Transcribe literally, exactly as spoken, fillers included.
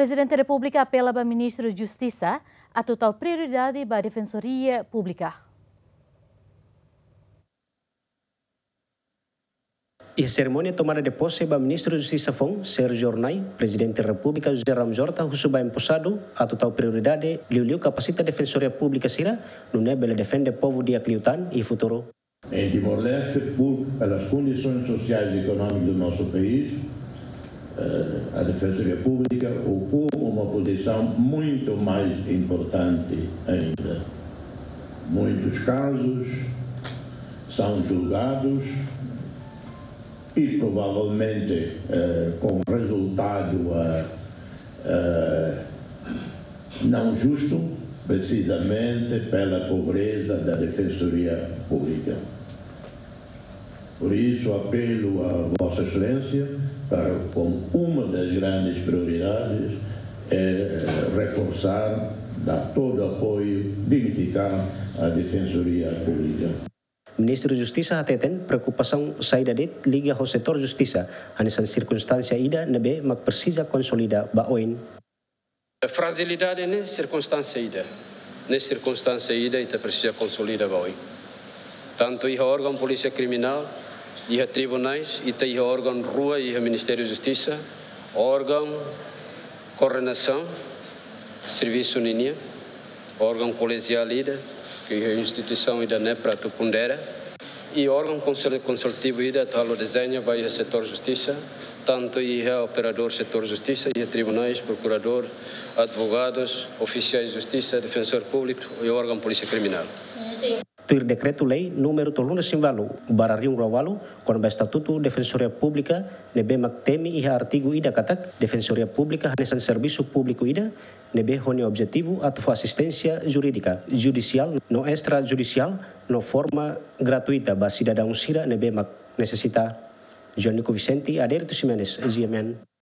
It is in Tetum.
Prezidente Repúblika apela ba Ministru Justisa atu tau prioridade ba Defensoria Públika. Iha serimónia tomada de pose ba Ministru Justisa foun, Sérgio Hornai, Prezidente Repúblika José Ramos Horta husu ba emposadu atu tau prioridade liuliu kapasita Defensoria Públika sira, nune'e bele defende povu di'ak liután iha futuru. Em Timor-Leste, por, pelas condições sociais e económicas do nosso país, eh, a Defensoria Pública ocupa uma posição muito mais importante ainda. Muitos casos são julgados e provavelmente, eh, com resultado, eh, eh, não justo, precisamente pela pobreza da Defensoria Pública. Por isso, apelo a Vossa Excelência para, como uma das grandes prioridades, eh, reforçar, dar todo o apoio, dignificar a Defensoria Pública. Ministru Justisa hateten preokupasaun saida de'it liga ho setór justisa, hanesan sirkunstánsia ida ne'ebé mak presiza konsolida ba oin. Frajilidade ne'e sirkunstánsia ida. Ne'e sirkunstánsia ida ita presiza konsolida ba oin. Tantu iha órgaun polísia kriminál, iha tribunais, ita iha órgaun rua iha Ministériu Justisa, órgaun koordenasaun servisu ninian, órgaun kolegiál ida, ke iha instituisaun ida-ne'e para atu pondera, i órgaun konsul-, konsultivu ida atu halo dezeñu ba iha setór justisa, tantu iha operadór setór justisa, iha tribunais, prokuradór, advogadus, ofisiais justisa, defensór públiku i órgaun polísia kriminál. Tuir dekretu-lei númeru tolunulu-resin-ualu barra rihun rua ualu, kona-ba Estatutu Defensoria Públika, ne'ebé mak temi iha artigu ida katak, Defensoria Públika hanesan servisu públiku ida, ne'ebé ho nia objetivu atu fó asisténsia jurídika, judisiál no estrajudisiál, no forma gratuita ba sidadaun sira ne'ebé mak nesesita. João Nico Vicente, Adérito Ximenes, G M N.